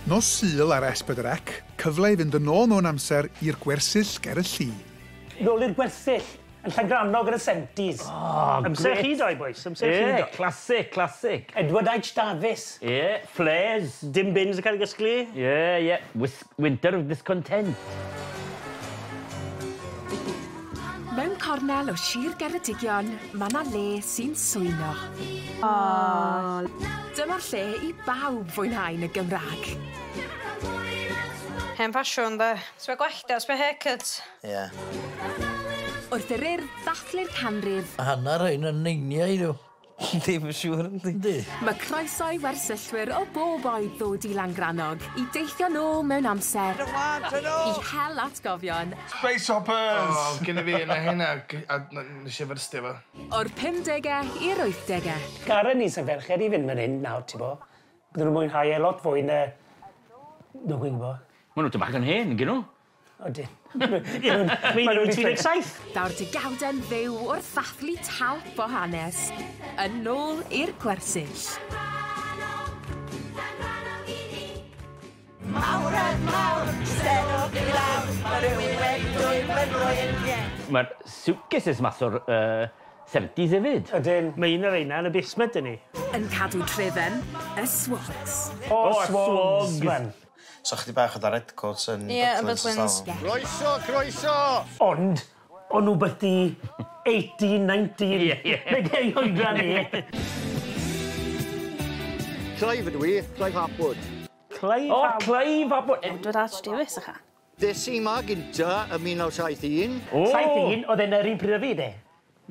Nos Sul ar S4C, cyfle i fynd yn ôl mewn amser i'r gwersyll ger y lli. Nôl i'r gwersyll, yn Llangrannog yn y 70s. Oh, amser chi doi, boys, amser chi doi. Classic, classic. Edward H. Davies. Ie, flares. Dim bins yn cael ei gysglu. Ie, ie. Winter of Discontent. Mewn cornel o Sir Geredigion, mae 'na le sy'n swyno. Oh. Dyma'r lle i bawb fwynhau yn y Gymraeg. Hen ffasiwn, de. Sbia gwallt o, sbia haircut. Ie. Wrth yr Urdd ddathlu'r canrif. Hannar rhain yn neiniau nhw. Ddim yn siŵr, yndi. Yndi. Mae croeso i wersyllwyr o bob oed ddod i Langrannog i deithio nôl mewn amser i hel atgofion. Space Hoppers! O, gynna fi yna hynna, a nes i fyrstio fo. O'r 50au i'r 80au. Garen ni sy'n ferched i fynd fan hyn nawr, ti bo. Bydden nhw'n mwynhau e lot fwy na... Na dwi'n gwybod. Maen nhw bach yn hen, gyn nhw. Odyn. Mae nhw'n 37. Daw'r degawdau'n fyw wrth ddathlu talp o hanes. Yn ôl i'r gwersyll. Mawredd mawr, stenwch i lawr, mae rhywun wedi dwyn fy nhrwyn. Mae'r suitcases mas o'r 70s hefyd. Ydyn. Mae un o'r reina yn y basement yn ni. Yn cadw trefen, y Swogs. O, Swogs, man. So chdi bach o da redcoats yn Butlins. Croeso, croeso! Ond, o'n nhw byti 18, 19. Ie, ie. Neu ei oedran ni. Clive ydw i, Clive Hapwood. Clive O, Clive Hapwood. Edward H. Davies, ycha. Des i ma gynta ym 1971. O! 71, oedd e'n yr un pryd o fi, de.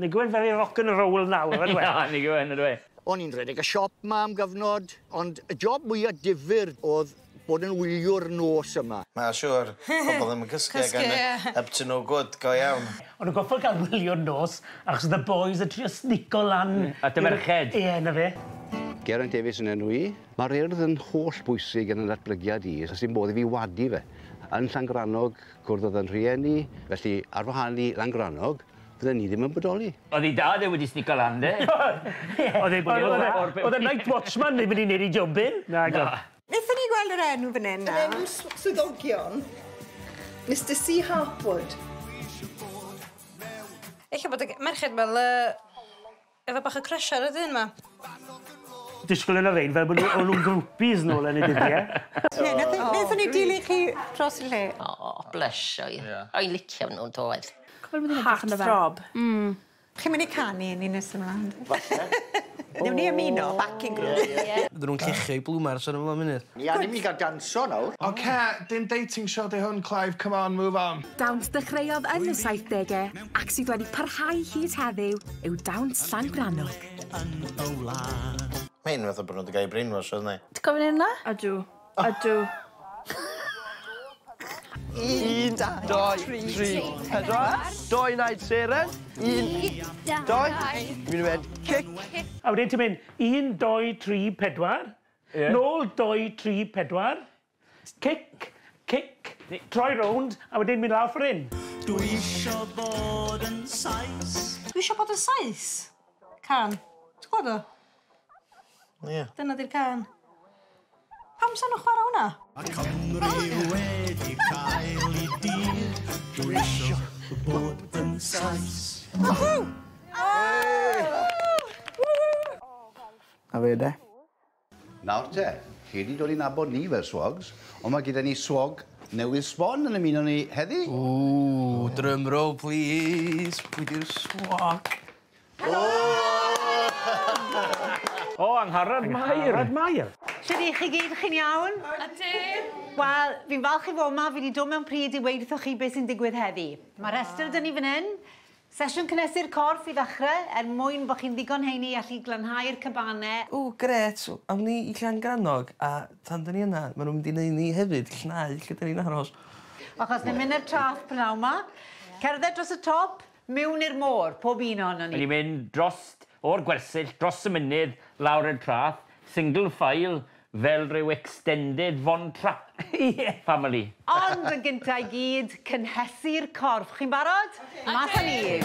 Nag yw e'n very rock and roll nawr, ydw e? Na, nag yw e'n, ydw e. O'n i'n rhedeg y siop ma am gyfnod, ond y job mwyaf difyr oedd bod yn wyliwr nos yma. Mae'n siŵr, pobl ddim yn cysgu ac yn up to no good, go iawn. O'n nhw'n goffod cael wyliwr nos, achos oedd y boys yn trio snico lan. At y merched. Ie, na fe. Geraint Davies yn enw i. Mae'r Urdd yn holl bwysig yn y datblygiad i, so sy'n modd i fi wadu fe. Yn Llangrannog, cwrddodd yn rhieni, felly ar wahân i Langrannog, fydden ni ddim yn bodoli. Oedd ei dad e wedi snico lan, de? Oedd oedd y night watchman ddim yn ei wneud ei jobyn. Na, go. Nethon ni gweld yr enw fan hyn nawr? Yr enw swyddogion, Mr C Harpwood. Ella bod y merched fel efo bach o crush ar y dyn ma. Disgwyl yn y rein fel bod nhw'n groupies nôl yn y dyddiau. Nethon ni dilyn chi dros y lle. O, blysio i. O'n licio nhw'n doedd. Heartthrob. Chi'n mynd i canu ni nes ymlaen? Falle. Newn ni ymuno, backing group. Bydden nhw'n llechio i blwmar sy'n ymlaen munud. Ni angen mi gael danso nawr. Oce, dim dating show di hwn, Clive, come on, move on. Dawns ddechreuodd yn y 70au ac sydd wedi parhau hyd heddiw yw dawns Llangrannog. Mae'n fath o bod nhw wedi cael ei brainwash, oedd ni? Ti'n gofyn hynna? Ydw. Ydw. 1, 2, 3, 4. 2 naid seren. 1, 2. Mi'n mynd cic. A wedyn ti'n mynd 1, 2, 3, 4. Nôl 2, 3, 4. Cic, cic, troi rownd, a wedyn mynd lawr ffordd hyn. Dwi isio bod yn Sais. Dwi isio bod yn Sais? Can. Ti'n gwybod o? Ie. Dyna di'r can. Pam sa'n nhw'n chwarae hwnna? Mae Cymru wedi cael ei dir. Dwi isio bod yn Sais. Woohoo! A fe de. Nawr te, chi wedi dod i nabod ni fel swogs, ond mae gyda ni swog newydd sbon yn ymuno ni heddi. Ww, drum roll please. Pwy di'r swog? O, Angharad Mair. Angharad Mair. Shwd i chi gyd, chi'n iawn? Ydyn. Wel, fi'n falch i fod yma, fi wedi dod mewn pryd i weud wrthoch chi beth sy'n digwydd heddi. Mae rhestr dyn ni fan hyn. Sesiwn cynhesu'r corff i ddechrau, er mwyn bod chi'n ddigon heini i allu glanhau'r cabanau. O, gret. Awn ni i Llangrannog, a tan dyn ni yna, maen nhw'n mynd i wneud ni hefyd, llnau, lle dyn ni'n aros. Achos ni'n mynd i'r traeth pnawn 'ma. Cerdded dros y top, mewn i'r môr, pob un ohonon ni. Ni'n mynd dros o'r gwersyll, dros y mynydd, lawr i'r traeth, single file, fel rhyw extended Von Trapp family. Ond yn gyntaf i gyd, cynhesu'r corff. Chi'n barod? Mas â ni.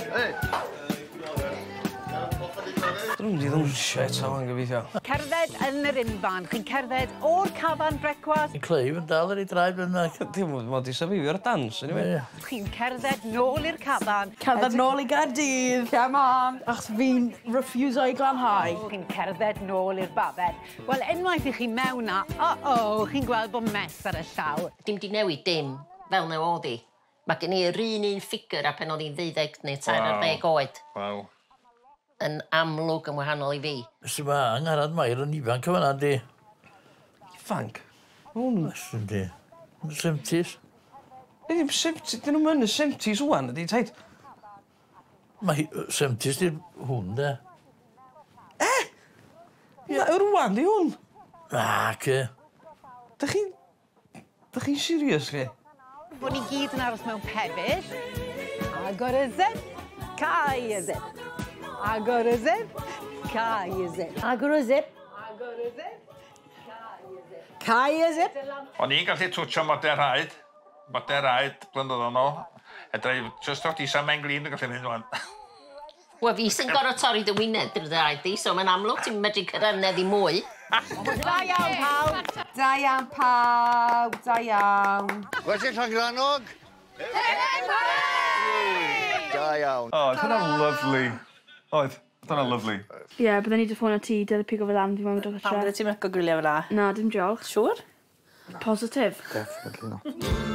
Dyn nhw'n mynd i ddawnsio eto, yn gobeithio. Cerdded yn yr unfan. Chi'n cerdded o'r cafan brecwast. Yn Clive yn dal ar ei draed fyna. Dim ond di safifio'r dans, anyway. Chi'n cerdded nôl i'r cafan. Cerdded nôl i Gaerdydd. Come on. Achos fi'n refuso i glanhau. Chi'n cerdded nôl i'r babell. Wel, unwaith i chi mewn na, o-o, chi'n gweld bod mess ar y llawr. Dim di newid dim, fel new oedd hi. Mae gen i yr un un ffigur a pen oedd hi'n 12 neu 13 oed. Waw. Yn amlwg yn wahanol i fi. Sy ma Angharad Mair yn ifanc yma di. Ifanc? Hwn. Yndi. Yn 70s. Ddim 70, dyn nhw'n mynd y 70s ŵan, ydi, taid? Mae 70s di hwn, de. E? Na, rwan di hwn. Na, ce. Da chi'n serious, chi? Bod ni gyd yn aros mewn pebyll. Agor y zip, cau y zip. Agor y zip, cau y zip. Agor y zip. Agor y zip, cau y zip. Cau y zip. O'n i'n gallu twtsio model rhaid blynyddoedd yn ôl. Edra i just o'r disa mewn glin yn gallu mynd wan. Wel, fi sy'n gorfod torri dy wyneb drwy dy raid di, so mae'n amlwg ti'n medru cyrraedd neddi mwy. Da iawn, pawb. Da iawn, pawb. Da iawn. Gwersyll Llangrannog. Da iawn. O, oedd hwnna'n lyfli. Oedd, oedd hwnna'n lyfli. Ie, bydden ni 'di ffonio ti, dyle pigo fe lan, fi moyn dod Pam bydde ti'n myco gwyliau fel 'a? Na, dim diolch. Siŵr? Positif. Definitely not.